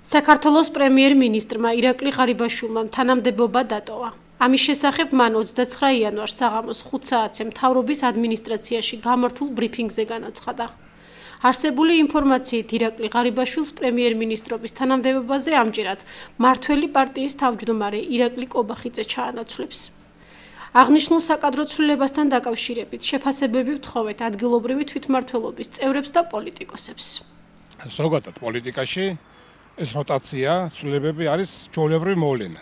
საქართველოს პრემიერ-მინისტრმა ირაკლი ღარიბაშვილმა თანამდებობა დატოვა. ამის შესახებ მან 29 იანვარს საღამოს 5 საათზე მთავრობის ადმინისტრაციაში გამართულ ბრიფინგზე განაცხადა. არსებული ინფორმაციით ირაკლი ღარიბაშვილს პრემიერ-მინისტრობის თანამდებობაზე ამჯერად მართველი პარტიის თავმჯდომარე ირაკლი კობახიძე ჩაანაცვლებს. აღნიშნულ საკადრო ცვლილებასთან დაკავშირებით შეფასებები ვთხოვეთ ადგილობრივი თვითმმართველობის წევრებს და პოლიტიკოსებს. ზოგადად პოლიტიკაში ეს როტაცია ცვლილებები არის ჩვეულებრივი მოვლენა.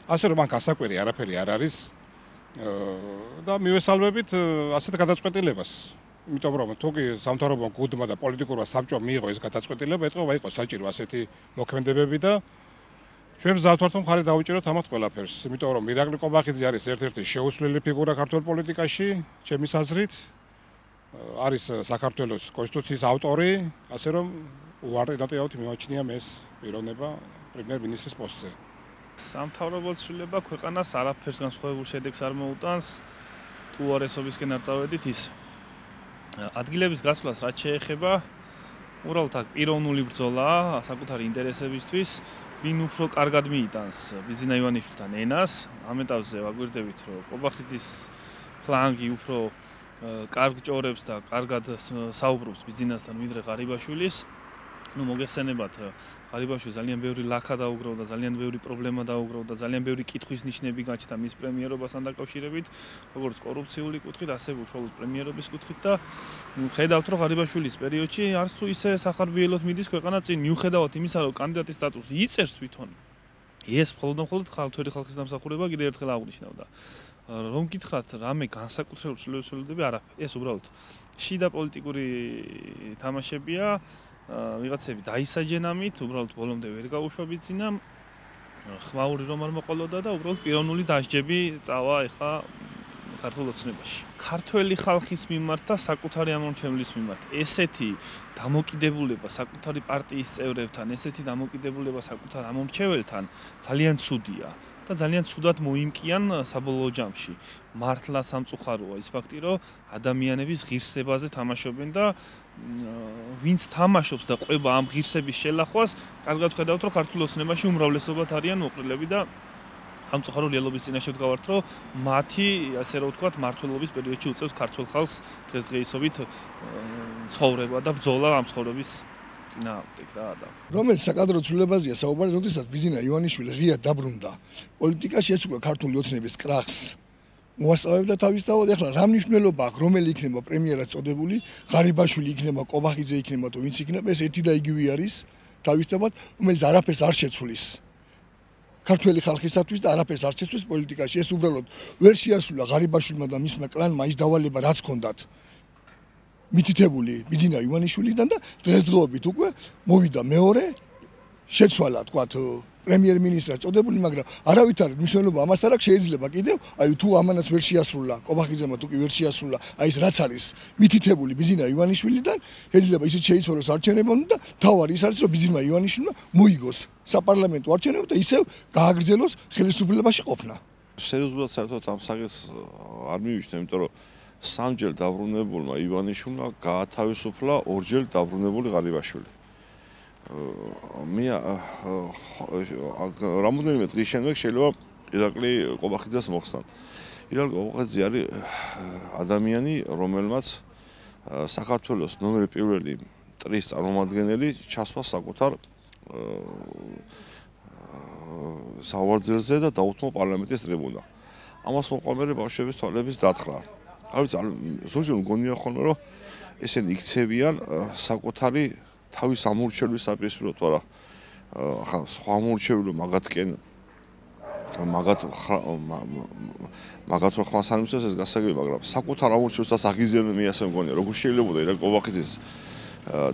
ასე რომ მან გასაკვირი არაფერი არ არის და მივესალმებით ასეთ გადაწყვეტილებას. იმიტომ რომ თუკი სამთავრობო გუნდმა და პოლიტიკურმა საბჭომ მიიღო ეს გადაწყვეტილება, ეთქვა იყო საჭირო ასეთი მოქმედებები და ჩვენ მზად ვართ მხარი დავუჭიროთ ამათ ყველაფერს. იმიტომ რომ ირაკლი კობახიძე არის ერთ-ერთი შეუცვლელი ფიგურა ქართულ პოლიტიკაში, ჩემის აზრით, არის საქართველოს კონსტიტუციის ავტორი, ასე რომ უარყიდატიავთ მიმაჩნია ეს პიროვნება პრემიერ-მინისტრის პოსტზე. სამთავრობო ცვლილება ქვეყანას არაფერს განსხვავებულ შედეგს არ მოუტანს, თუ უარესობისკენ არ წავედით ის. ადგილების გასვლას რაც შეეხება, უბრალოდ აქ პიროვნული ბრძოლაა საკუთარი ინტერესებისთვის, ვინ უფრო კარგად მიიტანს ბიზინა ივანიშვილთან ენას, ამ ეტაპზე ვაგვირდებით, რომ კობახიძის ფლანგი უფრო კარგ ჭორებს და კარგად საუბრობს ბიზინასთან ვიდრე ღარიბაშვილის. მოგეხსენებათ, ღარიბაშვილს ძალიან ბევრი ლაქა დაუგროვდა, ძალიან ბევრი პრობლემა დაუგროვდა, ძალიან ბევრი კითხვის ნიშნები გაჩნდა მის პრემიერობასთან დაკავშირებით, როგორც კორუფციული კუთხით, ასევე უშუალოდ პრემიერობის კუთხით და ხედავთ, რომ ღარიბაშვილის პერიოდში არც თუ ისე სახარბიელოდ მიდის ქვეყანა წინ, მიუხედავად იმისა, რომ კანდიდატის სტატუსი იწერს თვითონ. ეს მხოლოდ ქართველი ხალხის დამსახურება კიდევ ერთხელ აღნიშნავდა. რომ გითხრათ, რამე განსაკუთრებული ცვლილებები არაფერი, ეს უბრალოდ შიდა პოლიტიკური თამაშებია. ვიღაცები დაისაჯენ ამით, უბრალოდ ბოლომდე ვერ გაუშვა ბიზინა, ხმაური რომ არ მოყოლოდა და უბრალოდ პიროვნული დასჯები წავა ეხა ქართულ ოცნებაში. ქართველი ხალხის მიმართ და საკუთარი ამომრჩევლის მიმართ ესეთი დამოკიდებულება საკუთარი პარტიის წევრებთან, ესეთი დამოკიდებულება საკუთარ ამომრჩეველთან ძალიან ცუდია და ძალიან ცუდად მოიმკიან საბოლოო ჯამში. მართლა სამწუხაროა ის ფაქტი, რომ ადამიანების ღირსებაზე თამაშობენ და ვინც თამაშობს და ყვება ამ ღირსების შელახვას, კარგად ხედავთ, რომ ქართულ ოცნებაში უმრავლესობად არიან მოყრილები და სამწუხარო რეალობის წინაშე ვდგავართ, რომ მათი, ასე რომ ვთქვათ, მმართველობის პერიოდში უწევს ქართულ ხალხს დღესდღეობით ცხოვრება და ბრძოლა ამ ცხოვრების წინააღმდეგ რა და რომელიც საკადრო ცვლილებაზეა საუბარი, როდესაც ბიზინა ივანიშვილი ღიად დაბრუნდა პოლიტიკაში, ეს უკვე ქართული ოცნების კრახს მოასწავებდა თავისთავად. ეხლა რა მნიშვნელობა აქვს, რომელი იქნება პრემიერად წოდებული, ღარიბაშვილი იქნება, კობახიძე იქნება თუ ვინც იქნება, ეს ერთი და იგივე არის თავისთავად, რომელიც არაფერს არ შეცვლის ქართველი ხალხისათვის და არაფერს არ შეცვლის პოლიტიკაში. ეს უბრალოდ ვერ შეასრულა ღარიბაშვილმა და მისმა კლანმა ის დავალება, რაც ჰქონდათ მითითებული ბიზინა ივანიშვილიდან და დღესდღეობით უკვე მოვიდა მეორე შეცვალა, თქვათ, პრემიერ-მინისტრად წოდებული, მაგრამ არავითარი მნიშვნელობა ამას არ აქვს. შეიძლება კიდევ, აი თუ ამანაც ვერ შეასრულა, კობახიძემ თუ კი ვერ შეასრულა, აი ეს რაც არის მითითებული ბიზინა ივანიშვილიდან, შეიძლება ისიც შეიცვალოს არჩევნებამდე და თავარი ის არის, რომ ბიზინა ივანიშვილმა მოიგოს საპარლამენტო არჩევნები და ისევ გააგრძელოს ხელისუფლებაში ყოფნა. სერიოზულად საერთოდ ამ საკითხს არ მივიჩნევ, იმიტომ რომ სამჯერ დაბრუნებულმა ივანიშვილმა გაათავისუფლა ორჯერ დაბრუნებული ღარიბაშვილი. რამოდენიმე დღის შემდეგ შეიძლება ირაკლი კობახიძეს მოხსნან. ირაკლი კობახიძე არის ადამიანი, რომელმაც საქართველოს ნომერი პირველი ტრის წარმომადგენელი ჩასვა საკუთარ სავარძელზე და დაუთმო პარლამენტის ტრიბუნა. ამას მოყოლმე ბავშვების თვალების დათხრა. არ ვიცი, ზოგჯერ მგონია ხოლმე, რომ ესენი იქცევიან საკუთარი თავის ამორჩევლის საპირისპიროდ, არა ახლა სხვა ამორჩევლო მაგათკენ მაგათ რო ხმას არ მისცეს ეს გასაგები, მაგრამ საკუთარ ამორჩევლსაც აღიზიანებენ, მე ასე მგონია, როგორ შეიძლება ირაკლი კობახიძის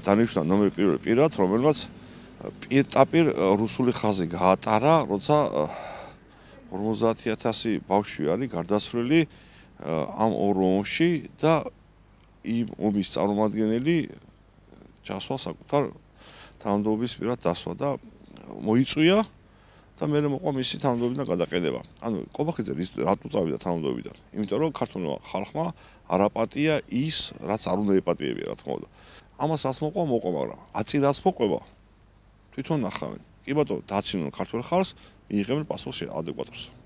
დანიშნა ნომერი პირველი პირად, რომელმაც პირდაპირ რუსული ხაზი გაატარა, როცა 50000 ბავშვი არის გარდაცვლილი ამ ორ ომში და იმ ომის წარმომადგენელი ჩასვა საკუთარ თანამდებობის პირად დასვა და მოიწვია და მე მოყვა მისი თანამდებობიდან გადაყედება. ანუ კობახიძე რატო წავიდა თანამდებობიდან? იმიტომ რომ ქართულმა ხალხმა არ აპატია ის, რაც არ უნდა ეპატიებია, რა თქმა უნდა. ამას რას მოყვა, მაგრამ აწირას მოყვება. თვითონ ნახავენ. კი ბატონო, დაცინონ ქართველ ხალხს, მიიღებენ პასუხს ადეკვატურს.